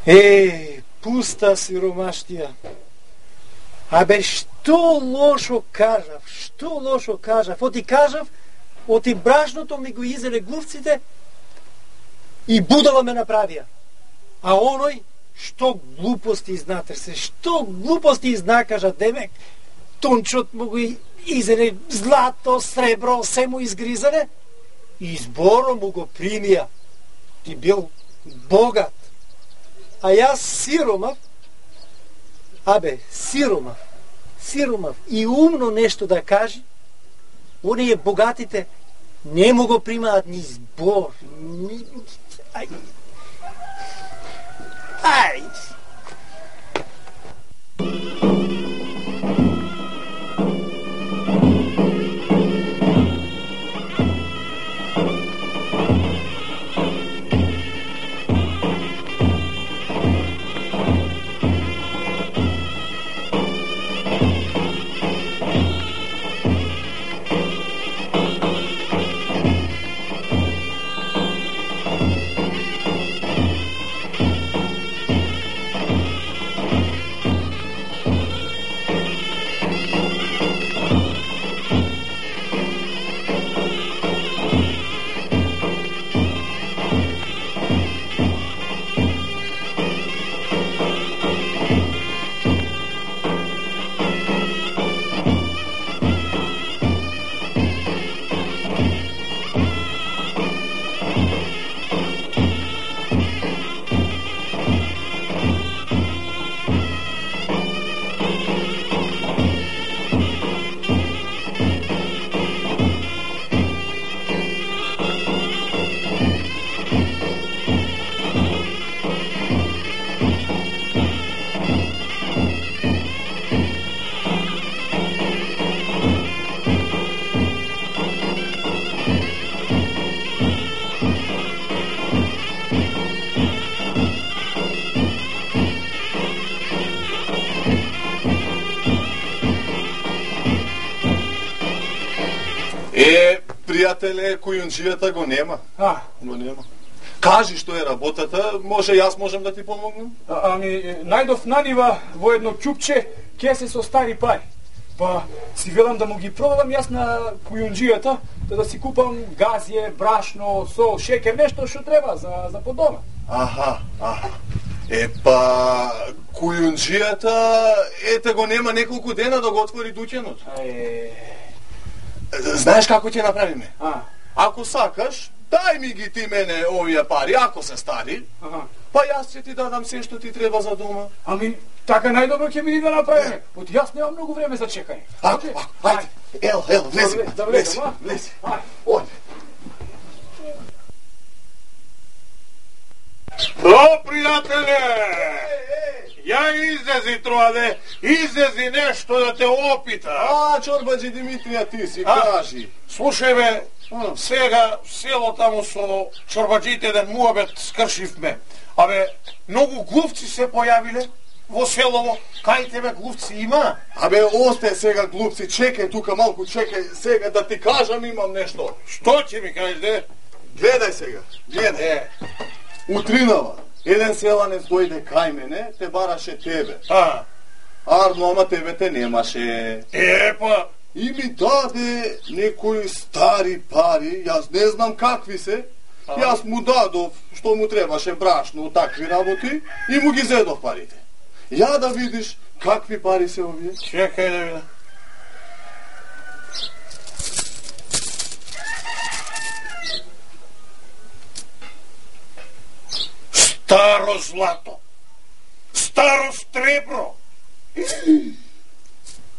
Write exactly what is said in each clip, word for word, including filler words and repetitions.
Е, пуста сиромаштија. Абе, што лошо кажав, што лошо кажав. Оти кажав, оти брашното ми го изеле глувците и будала ме направија. А оној, што глупости изнатресе, што глупости изнакажа, демек, тончот му го изеле злато, сребро, се му изгризане и зборо му го примија. Ти бил богат. А јас сиромав, абе, сиромав, сиромав и умно нешто да кажи, оние богатите не му го примаат ни збор. Ни... Ај. Ај. Е, пријателе, кујунџијата го нема. А, го нема. Кажи што е работата, може јас можам да ти помогнам? А, ами, најдов на нива во едно ќупче кесе со стари пари. Па си велам да му ги продадам јас на кујунџијата, да, да си купам газје, брашно, сол, шекер, нешто што треба за, за по дома. Аха, аха. Е, па, кујунџијата, ете го нема неколку дена да го отвори дуќанот. Е... Знаеш како ќе направиме? А. Ако сакаш, дај ми ги ти мене овие пари, ако се стари, Аха. па јас ќе ти дадам се што ти треба за дома. Ами, така најдобро ќе биде да направиме. Од јас немам многу време за чекање. Ако, ако, ајде, ел, ел, влези, да влези, влезам, а? влези. Ајде. Ојде. О, пријателе! Ја излези троаде, излези нешто да те опита. А, чорбаџи Димитрија, ти си, А? кажи. Слушај бе, сега село таму со чорбаџите еден муабет скршивме. Абе, многу глувци се појавиле во селово. Кај тебе глувци има? Абе, осте сега глупци, чекај тука малку, чекај сега да ти кажам, имам нешто. Што ќе ми кажеш, де? Гледај сега, гледај. Е, Утринава, еден селанец дојде кај мене, те бараше тебе. а, Арно, ама тебе те немаше. е, па, И ми даде некои стари пари, јас не знам какви се. Јас му дадов што му требаше брашно, такви работи, и му ги зедов парите. Ја да видиш какви пари се овие. чекај да видам. Старо злато, старо сребро.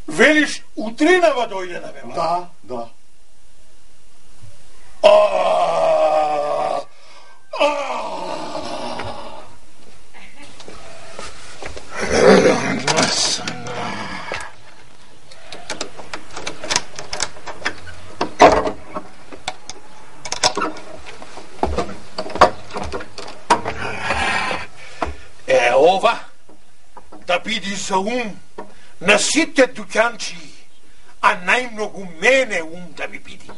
Велиш, утринава дојде да ме вади? Да, да. А, а. Е, ова да биде за ум на сите дуќанчи, а најмногу мене ум да ми биде.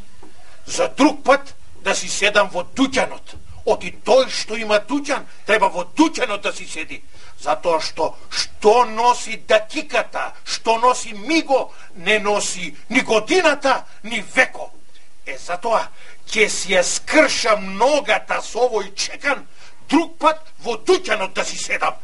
За друг пат да си седам во дуќанот, Оти тој што има дуќан, треба во дуќанот да си седи. Затоа што што носи дакиката, што носи миго, не носи ни годината, ни веко. Е, затоа ќе си ја скршам ногата со овој чекан, друг пат во дуќанот да си седам.